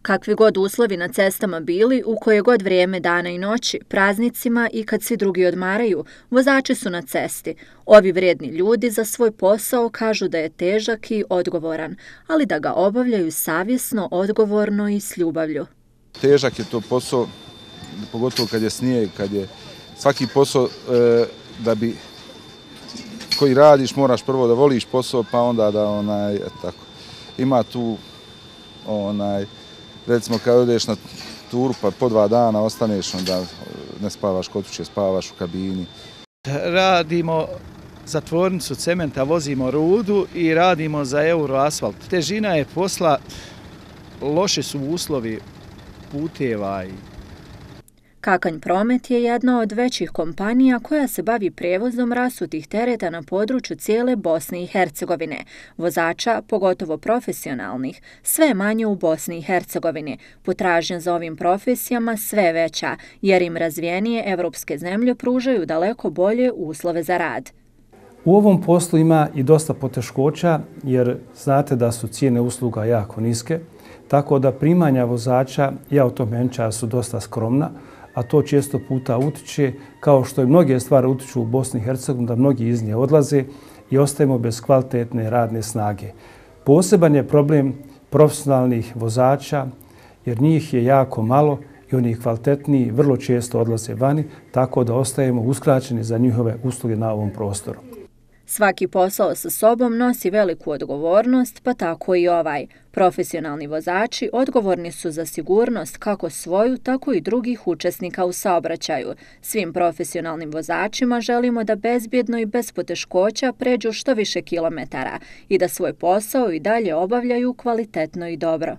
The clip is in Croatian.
Kakvi god uslovi na cestama bili, u koje god vrijeme dana i noći, praznicima i kad svi drugi odmaraju, vozači su na cesti. Ovi vrijedni ljudi za svoj posao kažu da je težak i odgovoran, ali da ga obavljaju savjesno, odgovorno i s ljubavlju. Težak je to posao, pogotovo kad je snijeg, kad je svaki posao da bi koji radiš moraš prvo da voliš posao, pa onda da tako. Ima tu recimo kad odeš na turu pa po 2 dana ostaneš, onda ne spavaš kod kuće, spavaš u kabini. Radimo za tvornicu cementa, vozimo rudu i radimo za Euroasfalt. Težina je posla, loši su uslovi puteva. Kakanj Promet je jedna od većih kompanija koja se bavi prijevozom rasutih tereta na području cijele Bosne i Hercegovine. Vozača, pogotovo profesionalnih, sve je manje u Bosni i Hercegovini. Potražnja za ovim profesijama sve veća, jer im razvijenije evropske zemlje pružaju daleko bolje uslove za rad. U ovom poslu ima i dosta poteškoća, jer znate da su cijene usluga jako niske, tako da primanja vozača i automenčara su dosta skromna, a to često puta utiče, kao što i mnoge stvari utiču u Bosni i Hercegovini, da mnogi iz nje odlaze i ostajemo bez kvalitetne radne snage. Poseban je problem profesionalnih vozača, jer njih je jako malo i oni kvalitetniji vrlo često odlaze vani, tako da ostajemo uskraćeni za njihove usluge na ovom prostoru. Svaki posao sa sobom nosi veliku odgovornost, pa tako i ovaj. Profesionalni vozači odgovorni su za sigurnost kako svoju, tako i drugih učesnika u saobraćaju. Svim profesionalnim vozačima želimo da bezbjedno i bez poteškoća pređu što više kilometara i da svoj posao i dalje obavljaju kvalitetno i dobro.